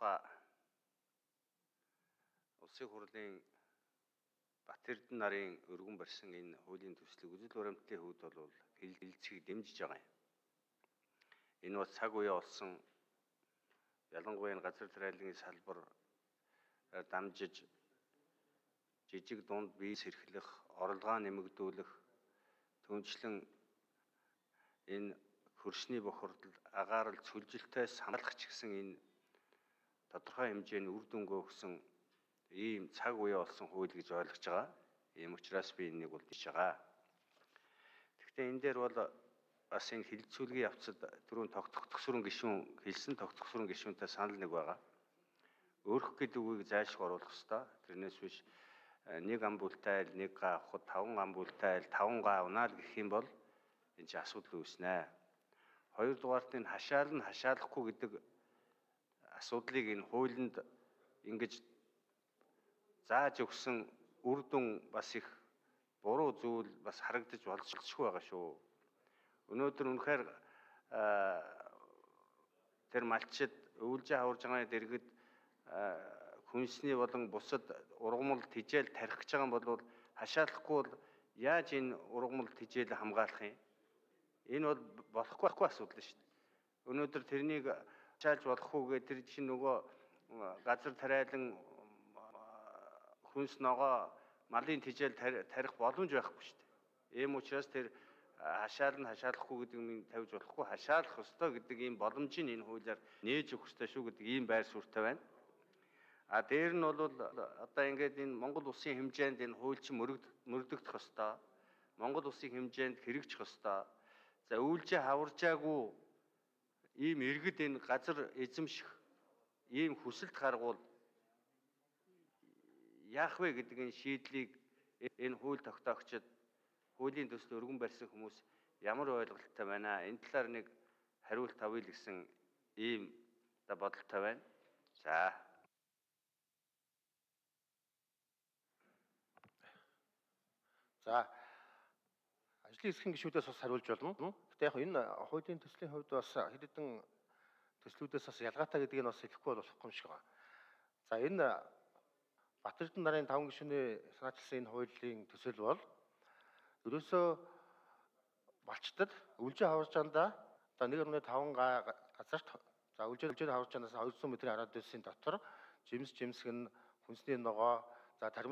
тухай улсын хурлын Бат Эрдэнэ нарын өргөн барьсан энэ хуулийн төслийг үзэл баримтлалын хувьд бол хэлэлцэхийг дэмжиж байгаа юм. Энэ бас цаг үе болсон ялангуяа энэ газар тариаллын салбар дамжиж жижиг дунд биес эрхлэх, орлогоо нэмэгдүүлэх, түүнчлэн энэ хөрсний бохирдол, агаарл, цөлжилтөөс хамгаалах ч гэсэн энэ тодорхой хэмжээний үр дүнгээ өгсөн ийм цаг үе болсон хууль гэж ойлгож байгаа. Ийм учраас би энийг бол дэж байгаа. Гэхдээ энэ дээр бол бас энэ хилцүүлгийн явцад түрүүн тогтцохсрын гишүүн хэлсэн тогтцохсрын гишүүнтэй санал нэг байгаа. Өөрөх гэдэг үгийг зайлшгүй оруулах ёстой. Тэрнээс биш нэг ам бүлтэй айл нэг га авахд 5 ам бүлтэй айл 5 га авнаа л гэх юм бол энэ чинь асуудал үүснэ. Хоёрдугаарт энэ хашаалахгүй гэдэг асуудлыг энэ хуулинд ингэж зааж өгсөн үр дүн бас их буруу зүйл бас харагдаж болзошгүй байгаа шүү. Өнөөдөр үнэхээр тэр малчид өвлжээ хаварж байгаа дэргэд хүнсний болон бусад ургамал тижээл тарих гэж байгаа юм бол хашаалахгүй бол яаж энэ ургамал тижээл хамгаалах юм? Энэ бол болохгүй асуудал шүү дээ. Өнөөдөр тэрнийг хашаалж болох үгээ тэр чинь нөгөө газар тариалан хүнс ногоо малын тижээл тарих боломж байхгүй шүү дээ. Ийм учраас тэр хашаалахгүй гэдэг нь тавьж болохгүй хашаалах ёстой гэдэг ийм боломжийг энэ хуулиар нээж өгөх ёстой шүү гэдэг ийм байр суурьтай байна. А дээр нь бол одоо ингээд энэ Монгол улсын хэмжээнд энэ хууль чинь мөрөгдөх ёстой. Монгол улсын хэмжээнд хэрэгжих ёстой. За өвлжээ хаваржаагүй ийм иргэд энэ газар эзэмших ийм хүсэлт гаргуул яах вэ гэдэг энэ шийдлийг энэ хууль тогтоогчид хуулийн төсөл өргөн барьсан хүмүүс ямар ойлголттой байна? Энэ талаар нэг хариулт авъя л гэсэн ийм бодолтой байна. За. За. Ажлын хэсгийн гишүүдээс бас хариулж болно. Гэтэ яг энэ хуулийн төслийн хувьд бас хэд хэдэн төслүүдээс бас ялгаатай гэдгийг бас хэлэхгүй болохгүй юм шиг байна. За энэ Бат Эрдэнэ нарын 5 гишүүний санаачилсан энэ хуулийн төсөл бол ерөөсөө малчдад өвлжөө хаварж андаа одоо 1.5 га газарт за өвлжөө хаварж андаасаа 200 м радиусын дотор жимс жимсгэн хүнсний ногоо за